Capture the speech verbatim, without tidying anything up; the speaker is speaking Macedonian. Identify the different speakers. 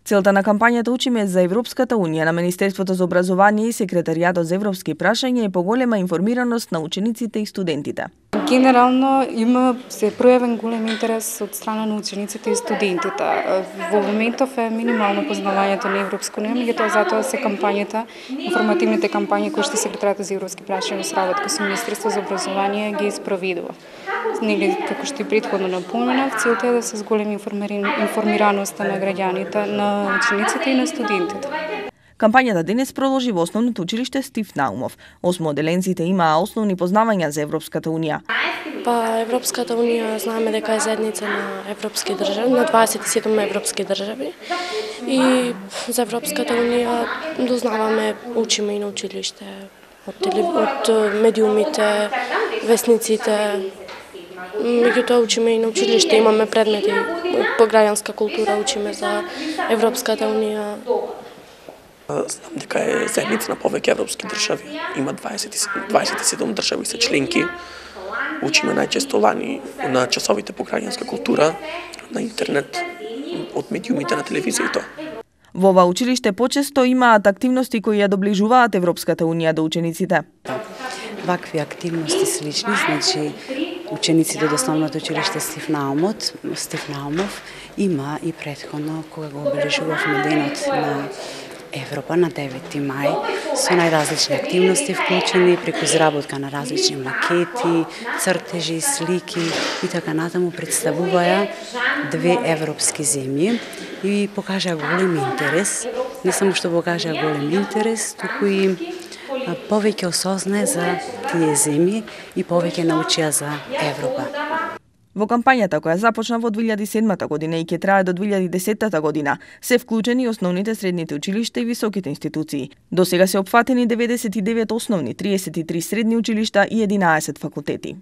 Speaker 1: Целта на кампањата Учиме за Европската Унија на Министерството за образование и Секретаријатот за европски прашања е поголема информираност на учениците и студентите.
Speaker 2: Генерално има се пројавен голем интерес од страна на учениците и студентите. Во моментов е минимално познавањето на Европска унија, меѓутоа затоа се кампањата, информативните кампањи кои што Секретаријатот за европски прашања сработка со Министерството за образование ги спроведува. Нели како што и претходно напоменав, целта е да се зголеми информираноста на граѓаните, на учениците и на студентите.
Speaker 1: Кампањата денес продолжи во Основното училиште Стив Наумов. Осмоделенците имаа основни познавања за Европската унија.
Speaker 3: Па Европската унија знаеме дека е заедница на европски држави, на дваесет и седум европски држави. И за Европската унија дознаваме, учиме и на училиште, од, телев... од медиумите, весниците. Меѓутоа учиме и на училиште, имаме предмети по граѓанска култура, учиме за Европската унија.
Speaker 4: Знам дека е заедница на повеќе европски држави. Има дваесет и седум држави се членки. Учиме најчесто лани на часовите по граѓанска култура, на интернет, од медиумите на телевизијата.
Speaker 1: Во ова училиште почесто имаат активности кои ја доближуваат Европската унија до учениците.
Speaker 5: Вакви активности слични, значи учениците од Основното училиште Стив Наумов, Стив Наумов има и претходно кога го обележувавме денот на Европа на девети мај со најразлични активности вклучени преку изработка на различни макети, цртежи, слики и така натаму представуваја две европски земји и покажаа голем интерес. Не само што покажаа голем интерес, туку и повеќе осознае за тие земји и повеќе научија за Европа.
Speaker 1: Во кампањата која започна во две илјади и седма година и ќе трае до две илјади и десета година, се вклучени основните средните училишта и високите институции. До сега се опфатени деветдесет и девет основни, триесет и три средни училишта и единаесет факултети.